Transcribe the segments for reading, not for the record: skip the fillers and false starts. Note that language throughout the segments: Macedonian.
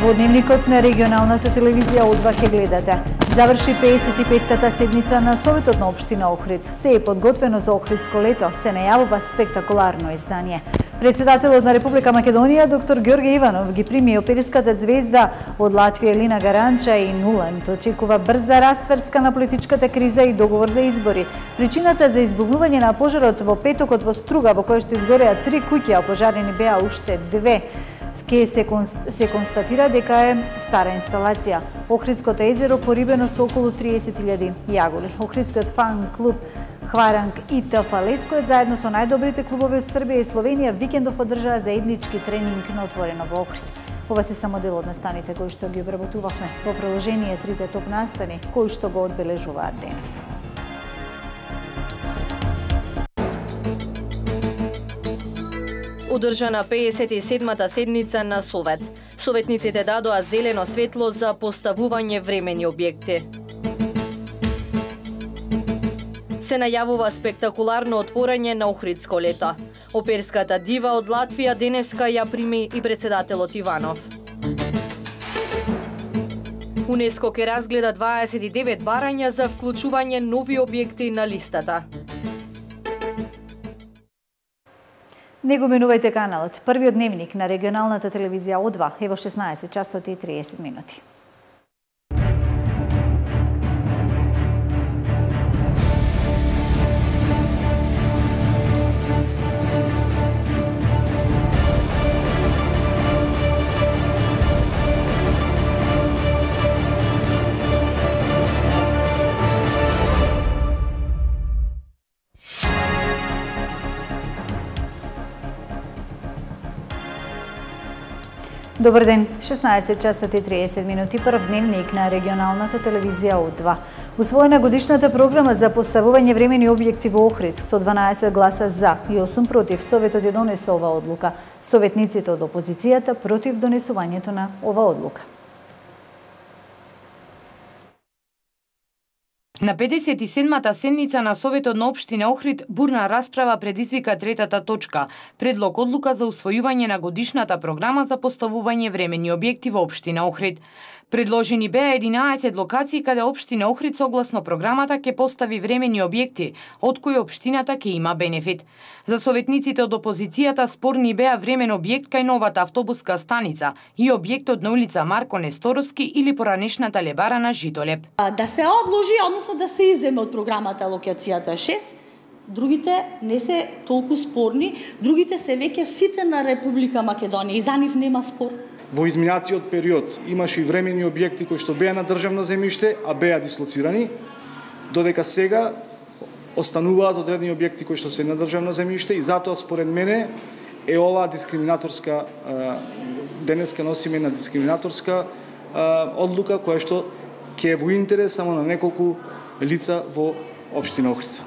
Во дневникот на регионалната телевизија Одва ќе гледате. Заврши 55-тата седница на Советот на општина Охрид. Се е подготвено за Охридско лето, се најавува спектакуларно издание. Председателот на Република Македонија, доктор Ѓорѓе Иванов, ги прими опериската звезда од Латвија Елина Гаранча и Нуланд. Очекува брза расврска на политичката криза и договор за избори. Причината за избувнување на пожарот во петокот во Струга, во кој што изгореа 3 куќи, а пожарени беа уште 2. Се констатира дека е стара инсталација. Охридското езеро порибено со околу 30.000 јаголи. Охридскиот фан клуб Хваранг и ТФ Леско заедно со најдобрите клубови од Србија и Словенија викендов одржаа заеднички тренинг на отворено во Охрид. Ова се само дел од настаните кои што ги обработувавме. Во продолжение трите топ настани кои што го одбележуваат денес. Одржана 57-та седница на Совет. Советниците дадоа зелено светло за поставување времени објекти. Се најавува спектакуларно отворање на Охридско лето. Оперската дива од Латвија денеска ја прими и председателот Иванов. УНЕСКО ќе разгледа 29 барања за вклучување нови објекти на листата. Не го менувајте каналот. Првиот дневник на регионалната телевизија Одва е во 16 часот и 30 минути. Добар ден, 16 часот и 30 минути, прв дневник на регионалната телевизија Одва. Усвоена годишната програма за поставување времени објекти во Охрид со 12 гласа за и 8 против, Советот ја донесе ова одлука. Советниците од опозицијата против донесувањето на ова одлука. На 57-та седница на Советот на општина Охрид бурна расправа предизвика третата точка – предлог одлука за усвојување на годишната програма за поставување времени објекти во општина Охрид. Предложени беа 11 локации каде општина Охрид согласно програмата ќе постави времени објекти, од кои општината ќе има бенефит. За советниците од опозицијата спорни беа времен објект кај новата автобуска станица и објектот на улица Марко Несторовски или поранешната лебара на Житолеп. Да се одложи, односно да се иземе од програмата локацијата 6, другите не се толку спорни, другите се веќе сите на Република Македонија и за нив нема спор. Во изминациот период имаше и времени објекти кои што беа на државно земјиште, а беа дислоцирани, додека сега остануваат одредени објекти кои што се на државно земјиште и затоа според мене е ова дискриминаторска, денеска носиме на дискриминаторска одлука која што ќе е во интерес само на неколку лица во општина Охрид.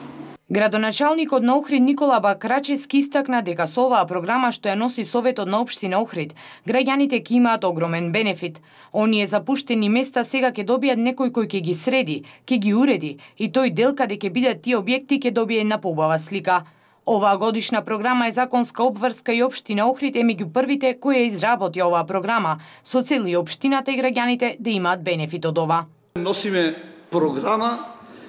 Градоначалникот на Охрид Никола Бакрачевски истакна дека со оваа програма што ја носи Советот на општина Охрид, граѓаните ќе имаат огромен бенефит. Оние запуштени места сега ќе добијат некој кој ќе ги среди, ќе ги уреди и тој дел каде ќе бидат тие објекти ќе добие една поубава слика. Оваа годишна програма е законска обврска и општина Охрид е меѓу првите кои ја изработи оваа програма, со цел и општината и граѓаните да имаат бенефит од ова. Носиме програма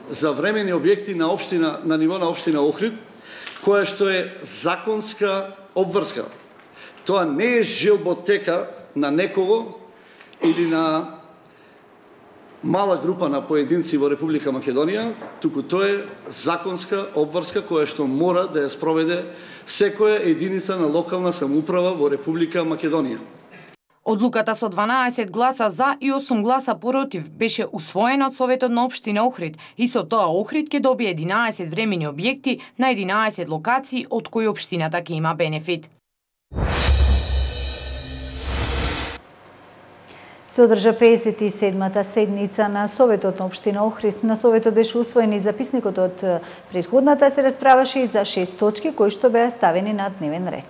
за времени објекти на општина на ниво на општина Охрид, која што е законска обврска. Тоа не е желботека на некого или на мала група на поединци во Република Македонија, туку тоа е законска обврска која што мора да ја спроведе секоја единица на локална самоуправа во Република Македонија. Одлуката со 12 гласа за и 8 гласа против беше усвоена од Советот на општина Охрид и со тоа Охрид ќе добие 11 времени објекти на 11 локации од кои општината ќе има бенефит. Се одржа 57-та седница на Советот на општина Охрид. На Советот беше усвоен и записникот од претходната, се расправаше и за 6 точки кои што беа ставени на дневен ред.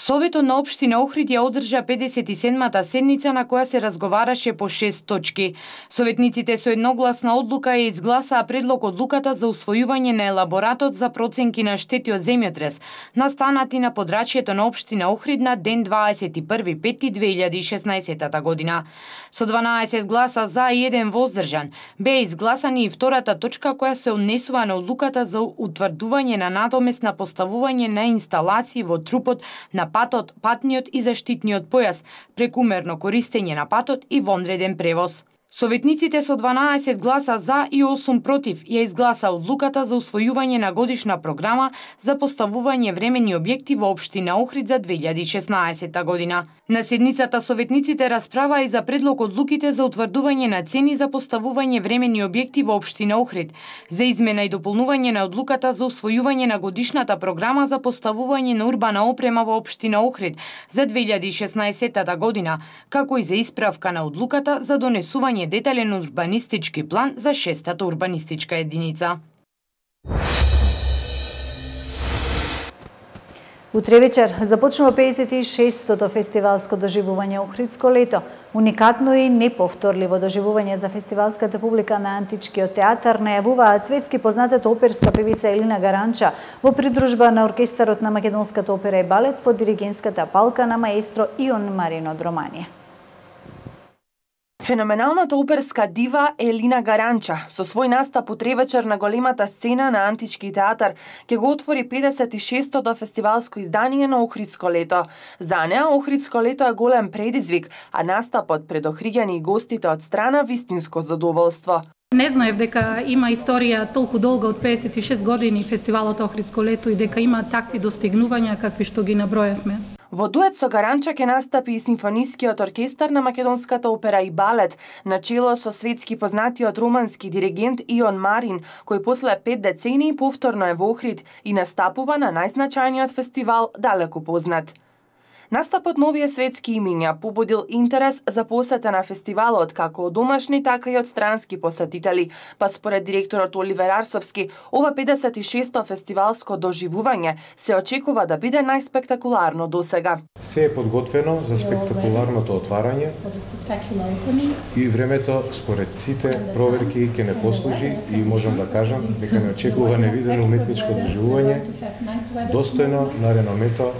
Советот на општина Охрид ја одржа 57-та седница на која се разговараше по 6 точки. Советниците со едногласна одлука ја изгласаа предлог одлуката за усвојување на елаборатот за проценки на штети од земјотрес, настанати на подрачјето на општина Охрид на ден 21.5.2016 година. Со 12 гласа за и 1 воздржан, беа изгласани и втората точка која се однесува на одлуката за утврдување на надоместна поставување на инсталации во трупот на патот, патниот и заштитниот појас, прекумерно користење на патот и вонреден превоз. Советниците со 12 гласа за и 8 против ја изгласа одлуката за усвојување на годишна програма за поставување временни објекти во општина Охрид за 2016 година. На седницата советниците расправаа и за предлог одлуките за утврдување на цени за поставување временни објекти во општина Охрид, за измена и дополнување на одлуката за усвојување на годишната програма за поставување на урбана опрема во општина Охрид за 2016 година, како и за исправка на одлуката за донесување детален урбанистички план за 6-та урбанистичка единица. Утре вечер започнува 56-тото фестивалско доживување Охридско лето. Уникатно и неповторливо доживување за фестивалската публика на Античкиот театар најавуваат светски познатата оперска певица Елина Гаранча во придружба на оркестарот на Македонската опера и балет под диригентската палка на маестро Ион Марин од Романија. Феноменалната оперска дива Елина Гаранча со свој настап утре вечер на големата сцена на Антички театар ќе го отвори 56-тото фестивалско издание на Охридско лето. За неа Охридско лето е голем предизвик, а настапот пред охриѓани и гостите од страна вистинско задоволство. Не знаев дека има историја толку долга од 56 години фестивалот Охридско лето и дека има такви достигнувања какви што ги наброевме. Во дует со Гаранча ќе настапи и симфонискиот оркестар на Македонската опера и балет, начело со светски познатиот романски диригент Ион Марин, кој после 5 децении повторно е во Охрид и настапува на најзначајниот фестивал далеку познат. Настапот на овие светски имиња побудил интерес за посета на фестивалот како од домашни, така и од странски посетители, па според директорот Оливер Арсовски, ова 56-то фестивалско доживување се очекува да биде најспектакуларно досега. Се е подготвено за спектакуларното отварање и времето според сите проверки ќе не послужи и можам да кажам дека не очекува невидено уметничко доживување достојно на реномето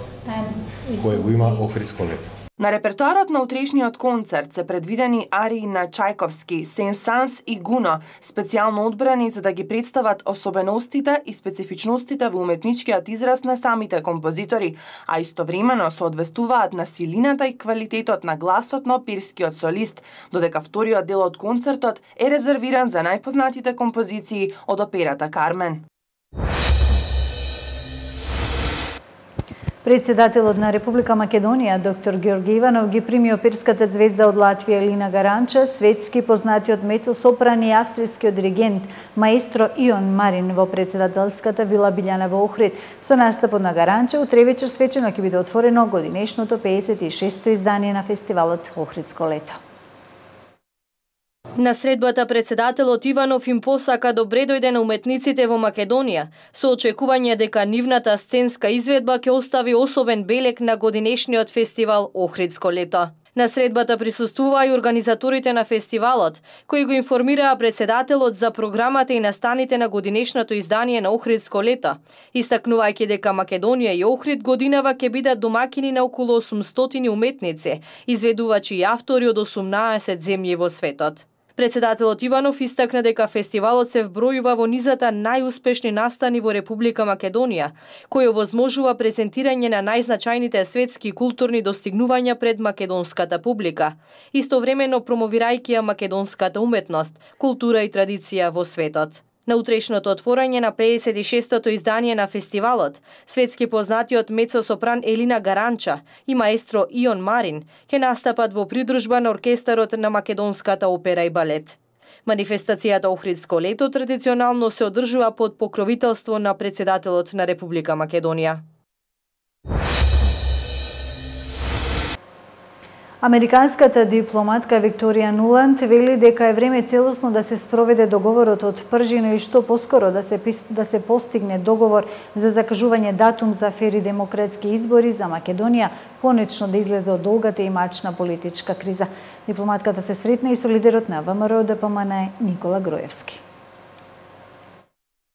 кој го има Охридско лето. На репертоарот на утрешниот концерт се предвидени арии на Чајковски, Сен-Санс и Гуно, специјално одбрани за да ги представат особеностите и специфичностите во уметничкиот израз на самите композитори, а истовремено се одвестуваат на силината и квалитетот на гласот на оперскиот солист, додека вториот дел од концертот е резервиран за најпознатите композиции од операта Кармен. Председателот на Република Македонија, доктор Георги Иванов, ги прими оперската звезда од Латвија Елина Гаранча, светски познатиот мецо-сопран и австрискиот диригент маестро Ион Марин во председателската вила Билјана во Охрид. Со настапот на Гаранча утре вечер свечено ќе биде отворено годинешното 56-то издание на фестивалот Охридско лето. На средбата председателот Иванов им посака добре дојде на уметниците во Македонија, со очекување дека нивната сценска изведба ќе остави особен белег на годинешниот фестивал Охридско лето. На средбата присуствуваа и организаторите на фестивалот, кои го информираа председателот за програмата и настаните на годинешното издание на Охридско лето, истакнувајќи дека Македонија и Охрид годинава ќе бидат домакини на околу 800 уметници, изведувачи и автори од 18 земји во светот. Председателот Иванов истакна дека фестивалот се вбројува во низата најуспешни настани во Република Македонија, кој овозможува презентирање на најзначајните светски културни достигнувања пред македонската публика, истовремено промовирајќи ја македонската уметност, култура и традиција во светот. На утрешното отворање на 56-тото издание на фестивалот, светски познатиот мецо-сопран Елина Гаранча и маестро Ион Марин ќе настапат во придружба на оркестарот на Македонската опера и балет. Манифестацијата Охридско лето традиционално се одржува под покровителство на председателот на Република Македонија. Американската дипломатка Викторија Нуланд вели дека е време целосно да се спроведе договорот од Пржино и што поскоро да се постигне договор за закажување датум за фери демократски избори за Македонија, конечно да излезе од долгата и мачна политичка криза. Дипломатката се сретна и со лидерот на ВМРО ДПМН Никола Груевски.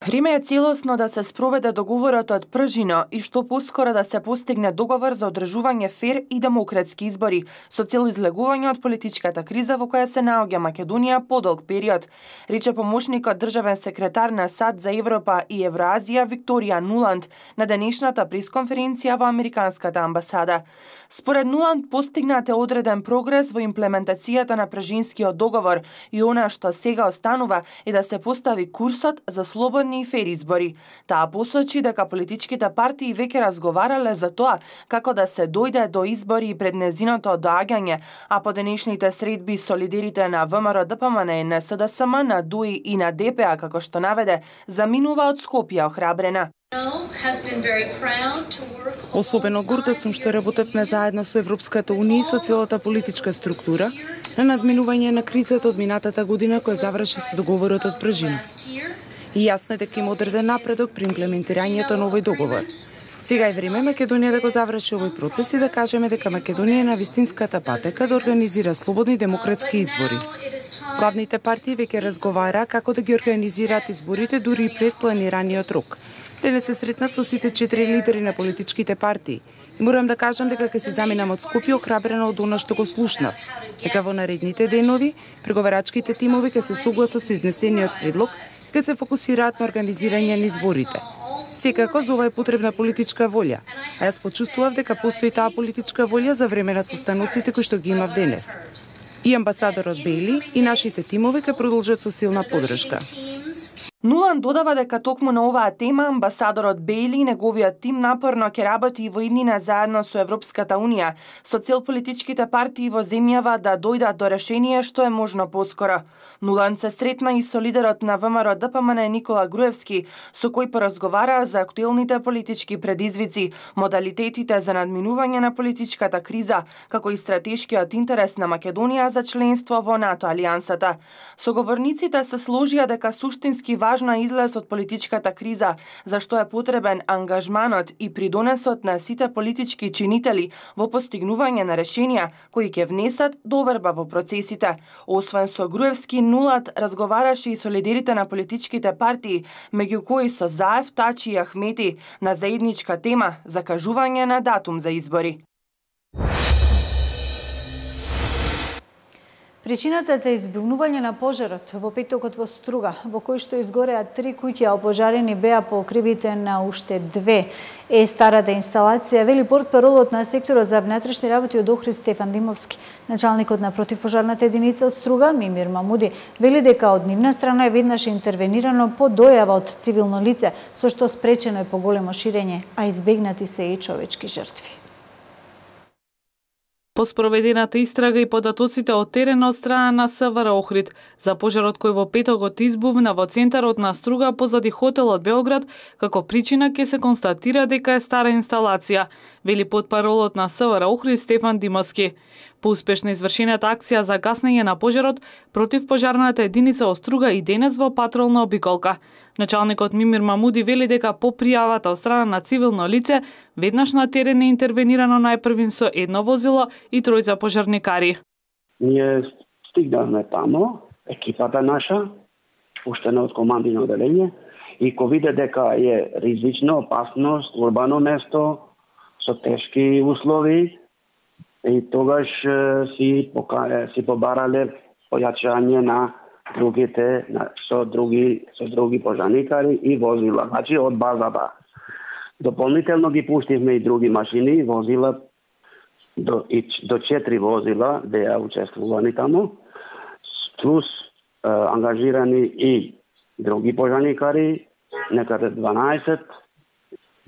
Време е целосно да се спроведе договорот од Пржино и што поскоро да се постигне договор за одржување фер и демократски избори со цел излегување од политичката криза во која се наоѓа Македонија подолг период, рече помошникот државен секретар на САД за Европа и Евроазија Викторија Нуланд на денешната пресконференција во Американската амбасада. Според Нуланд постигнат е одреден прогрес во имплементацијата на Пржинскиот договор и она што сега останува е да се постави курсот за слободни и фер избори. Таа посочи дека политичките партии веќе разговарале за тоа како да се дојде до избори пред незиното доаѓање, а по денешните средби со лидерите на ВМРО ДПМН, НСДСМ, на ДУИ и на ДПА, како што наведе, заминува од Скопје охрабрена. Особено горда сум што работевме заедно со Европската Унија и со целата политичка структура на надминување на кризата од минатата година која заврши со договорот од Пржино. И јасно е дека има одреден напредок при имплементирањето на овој договор. Сега е време Македонија да го заврши овој процес и да кажеме дека Македонија е на вистинската патека да организира слободни демократски избори. Главните партии веќе разговара како да ги организираат изборите дури и пред планираниот рок. Денес се сретнав со сите 4 лидери на политичките партии. И морам да кажам дека ќе се заминам од Скопје охрабрена од она што го слушнав. Дека во наредните денови преговарачките тимови ќе се согласат со изнесениот предлог и ќе се фокусираат на организирање на изборите. Секако за ова е потребна политичка волја, а јас почувствував дека постои таа политичка волја за време на состаноците кои што ги имав денес. И амбасадорот Бейли и нашите тимови ќе продолжат со силна поддршка. Нуланд додава дека токму на оваа тема амбасадорот Бейли и неговиот тим напорно ќе работи во иднина заедно со Европската Унија, со цел политичките партии во земјава да дојдат до решение што е можно поскоро. Нуланд се сретна и со лидерот на ВМРО ДПМН Никола Груевски, со кој поразговараа за актуелните политички предизвици, модалитетите за надминување на политичката криза, како и стратешкиот интерес на Македонија за членство во НАТО алијансата. Соговорниците се сложија дека суштински важно е излез од политичката криза, зашто е потребен ангажманот и придонесот на сите политички чинители во постигнување на решенија кои ќе внесат доверба во процесите. Освен со Груевски, Нуланд разговараше и со лидерите на политичките партии, меѓу кои со Заев, Тачи и Ахмети, на заедничка тема закажување на датум за избори. Причината за избивнување на пожарот во петокот во Струга, во кој што изгореа 3 куќи, а опожарени беа по кривите на уште 2, е старата инсталација, вели портпаролот на секторот за внатрешни работи од Охрид Стефан Димовски. Началникот на противпожарната единица од Струга, Мимир Мамуди, вели дека од нивна страна е веднаш интервенирано по дојава од цивилно лице, со што спречено е поголемо ширење, а избегнати се и човечки жртви. По спроведената истрага и податоците од терена од страна на СВР Охрид за пожарот кој во петокот избувна во центарот на Струга позади хотелот Београд, како причина ќе се констатира дека е стара инсталација, вели потпаролот на СВР Охрид Стефан Димовски. По успешно извршената акција за гаснење на пожарот, противпожарната единица од Струга и денес во патролна обиколка. Началникот Мимир Мамуди вели дека по пријавата од страна на цивилно лице, веднаш на терен е интервенирано најпрвин со едно возило и тројца пожарникари. Ние стигнавме тамо, екипата наша, пуштена од командино оделение, и ко виде дека е ризично, опасно, урбано место, со тешки услови, и тогаш си побарале појачање на другите со други пожарникари и возила, значи од базата. Дополнително ги пуштивме и други машини и возила, до 4 возила беа учествувани тамо, плюс ангажирани и други пожарникари, некаде 12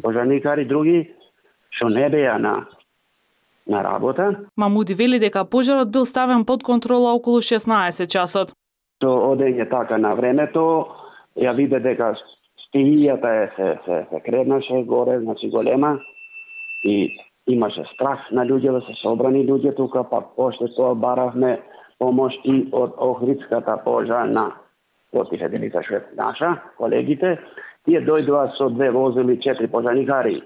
пожарникари други, што не беа на работа. Мамуди вели дека пожарот бил ставен под контрола околу 16 часот. Со одење така на времето, ја виде дека стихијата се креднаше горе, значи голема, и имаше страх на луѓе да се собрани луѓе тука, па после тоа баравме помош и од Охридската пожарна Потиха Делица Швед наша, колегите, тие дојдоа со 2 возили 4 пожарникари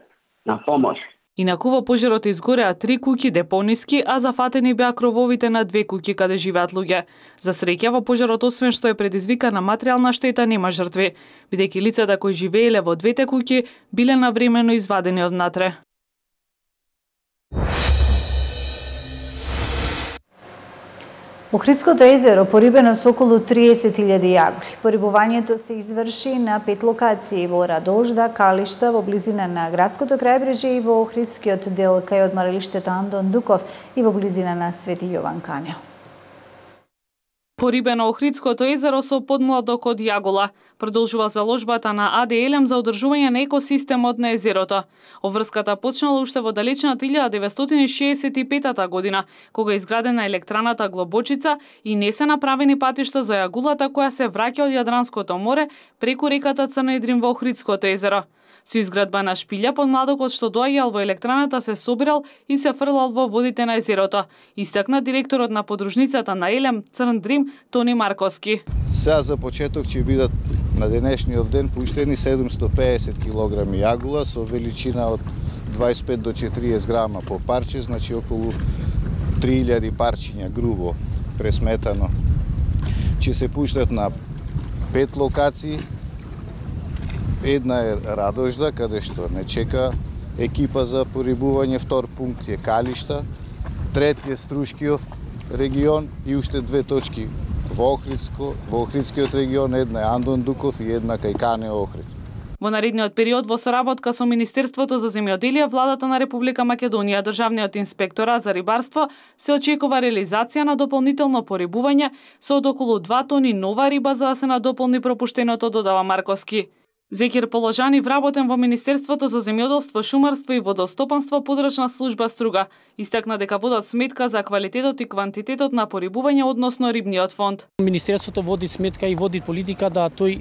на помош. Инаку во пожарот изгореа 3 куќи депониски, а зафатени беа крововите на 2 куќи каде живеат луѓе. За среќа во пожарот, освен што е предизвикана материјална штета, нема жртви, бидејќи лицата кои живееле во 2 куќи биле навремено извадени од внатре. Охридското езеро порибено со околу 30.000 јагули. Порибувањето се изврши на 5 локации во Радожда, Калишта, во близина на градското крајбрежје и во Охридскиот дел кај одморалиштето Андон Дуков и во близина на Свети Јован Канел. Порибено Охридското езеро со подмладок од јагола. Продолжува заложбата на АД Елем за одржување на екосистемот на езерото. Оврската почнала уште во далечната 1965 година, кога е изградена електраната Глобочица и не се направени патишта за јагулата која се враќа од Јадранското море преку реката Црна Идрин во Охридското езеро. Со изградба на шпилја, подмладокот што доаѓал во електраната се собирал и се фрлал во водите на езерото, истакна директорот на подружницата на Елем Црн Дрим Тони Марковски. Сега за почеток ќе бидат на денешниот ден пуштени 750 кг јагула со величина од 25 до 40 грама по парче, значи околу 3000 парчиња грубо пресметано. Ќе се пуштат на 5 локации. Една е Радожда, каде што не чека екипа за порибување, втор пункт е Калишта, трети е Струшкиов регион и уште 2 точки во Охридскиот регион, една е Андон Дуков и една кај Кане Охрид. Во наредниот период, во соработка со Министерството за земјоделие, владата на Република Македонија, Државниот инспекторат за рибарство, се очекува реализација на дополнително порибување со од околу 2 тони нова риба за да се надополни пропуштеното, додава Марковски. Зекир Положани, вработен во Министерството за земјоделство, шумарство и водостопанство, подрачна служба Струга, истакна дека водат сметка за квалитетот и квантитетот на порибување односно рибниот фонд. Министерството води сметка и води политика да тој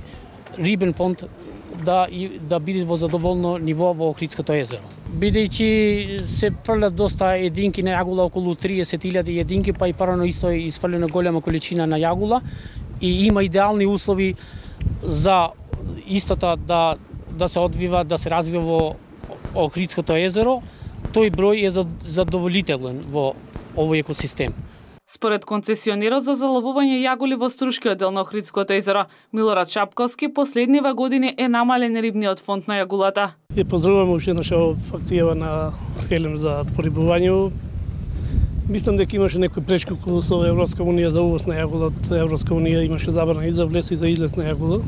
рибен фонд да биде во задоволно ниво во Охридското езеро. Бидејќи се фрлат доста единки на јагула, околу 30.000 единки, па и парано исто е изфрлена голема количина на јагула и има идеални услови за истата да се одвива, да се развива во Охридското езеро, тој број е задоволителен во овој екосистем. Според концесионерот за заловување јаголи во Струшкиот дел на Охридското езеро, Милорад Шапковски, последниве години е намален рибниот фонд на јагулата. Ја поздравувам уште наша факцијава на Елем за порибување. Мислам дека имаше некој пречки со Европска унија за увоз на јагула од Европска унија, имаше забрана и за влез и за излез на јагула.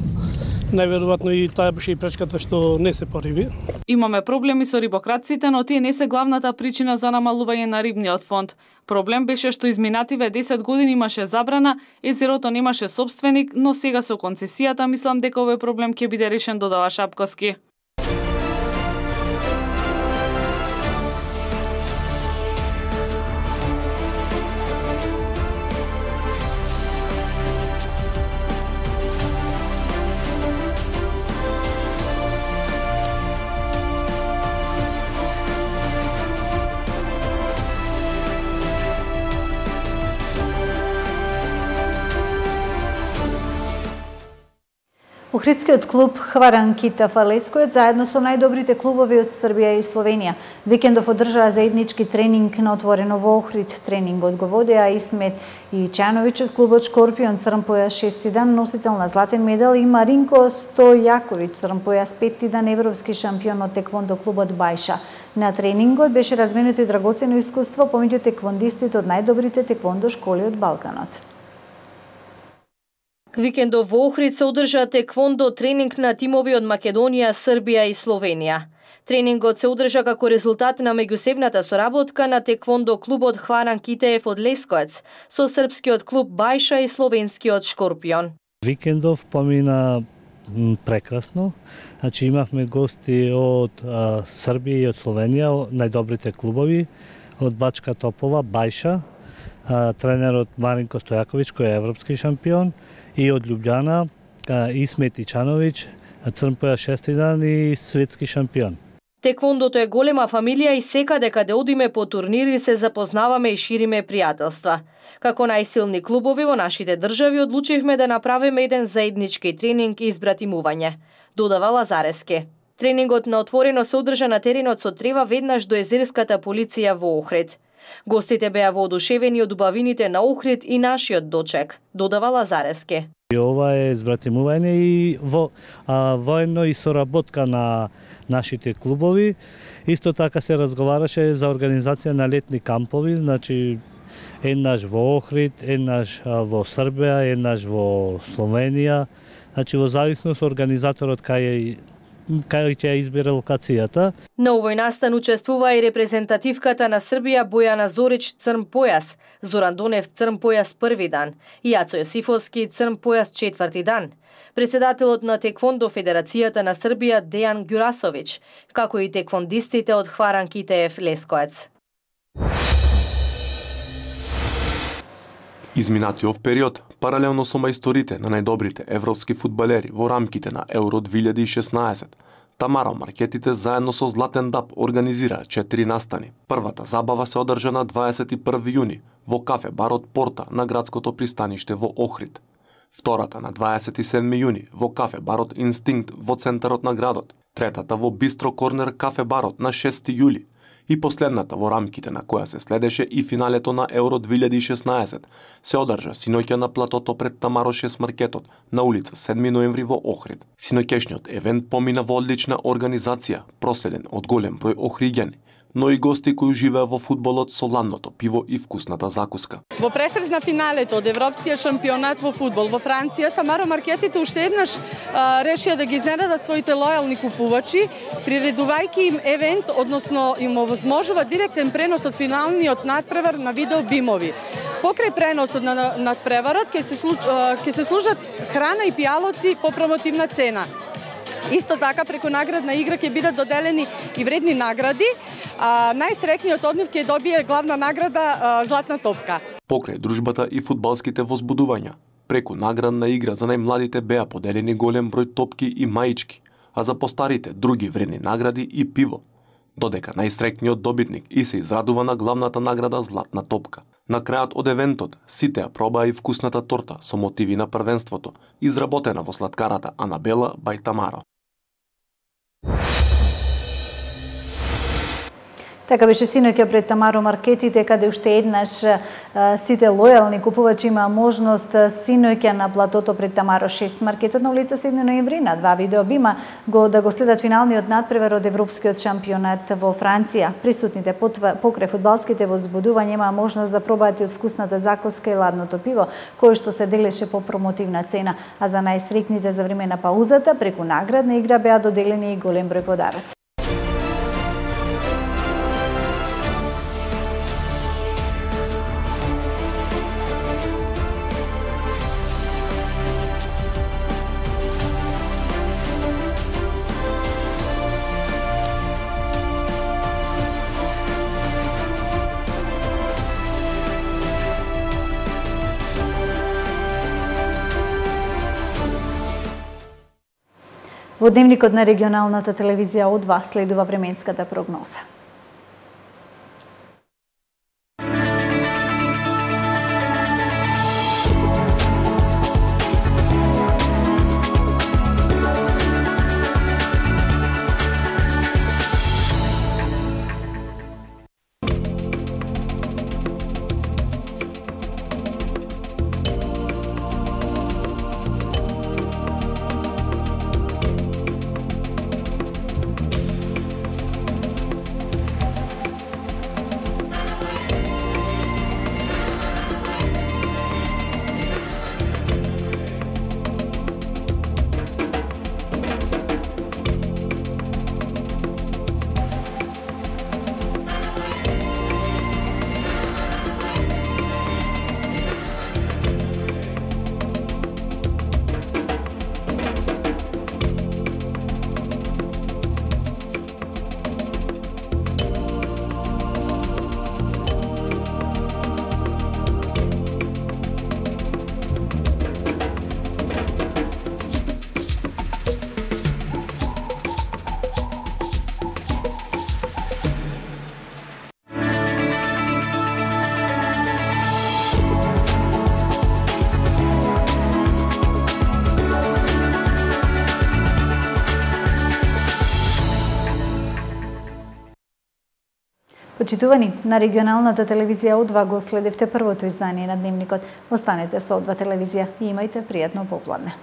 Најверојатно и таа беше и пречката што не се пориби. Имаме проблеми со рибократците, но тие не се главната причина за намалување на рибниот фонд. Проблем беше што изминативе 10 години имаше забрана, езерото немаше собственик, но сега со концесијата мислам дека овој проблем ќе биде решен, додава Шапковски. Охридскиот клуб Хваранкита Фалескојот заедно со најдобрите клубови од Србија и Словенија викендов одржаа заеднички тренинг на отворено во Охрид. Тренингот го водеа Исмет Ичановиќ од клубот Шкорпион Црн појас 6 дан носител на златен медал и Маринко Стојаковиќ Црн појас 5 дан европски шампион од теквондо клубот Бајша. На тренингот беше разменето и драгоцено искуство помеѓу теквондистите од најдобрите теквондо школи од Балканот. Викендов во Охрид се одржа теквондо тренинг на тимови од Македонија, Србија и Словенија. Тренингот се одржа како резултат на меѓусебната соработка на теквондо клубот Хваран Китеев од Лесковец со српскиот клуб Бајша и словенскиот Шкорпион. Викендов помина прекрасно. Значи имавме гости од Србија и од Словенија, најдобрите клубови, од Бачка Топола, Бајша, тренерот Маринко Стојаковиќ кој е европски шампион, и од Љубљана Исмет Ичановиќ, Црн појас 6 дан и светски шампион. Теквондото е голема фамилија и секаде каде одиме по турнири се запознаваме и шириме пријателства. Како најсилни клубови во нашите држави одлучивме да направиме еден заеднички тренинг и избратимување, додава Лазарески. Тренингот на отворено се одржа на теренот со трева веднаш до езерската полиција во Охрид. Гостите беа воодушевени од убавините на Охрид и нашиот дочек, додава Лазарески. Ова е избратимување и воено и соработка на нашите клубови. Исто така се разговараше за организација на летни кампови, значи еднаш во Охрид, еднаш во Србија, еднаш во Словенија. Значи во зависност организаторот кај ќе избере локацијата. На овој настан учествува и репрезентативката на Србија Бојана Зорич црн појас, Зоран Донев црн појас први дан и Јацо Јосифовски црн појас четврти дан. Председателот на Теквондо Федерацијата на Србија Дејан Ѓурасовиќ, како и теквондистите од Хваран Китеев Лескоец. Изминатиот период, паралелно со мајсторите на најдобрите европски фудбалери во рамките на Евро 2016, Тамара Маркетите заедно со Златен Даб организираа 4 настани. Првата забава се одржа на 21 јуни во кафе барот Порта на градското пристаниште во Охрид. Втората на 27 јуни во кафе барот Инстинкт во центарот на градот. Третата во Бистро Корнер кафе барот на 6 јули. И последната во рамките на која се следеше и финалето на Евро 2016 се одржа синоќа на платото пред Тамаро 6 маркетот на улица 7 ноември во Охрид. Синоќешниот евент помина во одлична организација, проследен од голем број охриѓани, но и гости кои живеа во фудбалот со ладното пиво и вкусната закуска. Во пресред на финалето од Европскиот шампионат во фудбал во Франција, Тамаро Маркетите уште еднаш решија да ги изненадат своите лојални купувачи, приредувајќи им евент, односно им овозможува директен пренос од финалниот надпревар на видео бимови. Покрај преносот на надпреварот ќе се служат храна и пијалоци по промотивна цена. Исто така, преку наградна игра ќе бидат доделени и вредни награди. Најсреќниот од нив ќе добие главна награда Златна топка. Покрај дружбата и фудбалските возбудувања, преку наградна игра за најмладите беа поделени голем број топки и маички, а за постарите други вредни награди и пиво. Додека најсреќниот добитник и се израдува на главната награда Златна топка. На крајот од евентот, сите ја пробаа и вкусната торта со мотиви на првенството, изработена во сладкарата Анабела бај Тамаро. Така беше синоќа пред Тамаро Маркетите, каде уште еднаш сите лојални купувачи има можност синоќа на платото пред Тамаро 6 маркетот на улица 7 ноември на 2 видеобима да го следат финалниот надпревар од Европскиот шампионат во Франција. Присутните покрај фудбалските возбудувања имаа можност да пробаат и од вкусната закуска и ладното пиво, кое што се делеше по промотивна цена, а за најсреќните за време на паузата преку наградна игра беа доделени и голем број подароци. Во дневникот на регионалната телевизија О2 следува временската прогноза. Почитувани, на регионалната телевизија О2 го следевте првото издание на Дневникот. Останете со О2 телевизија и имајте пријатно попладне.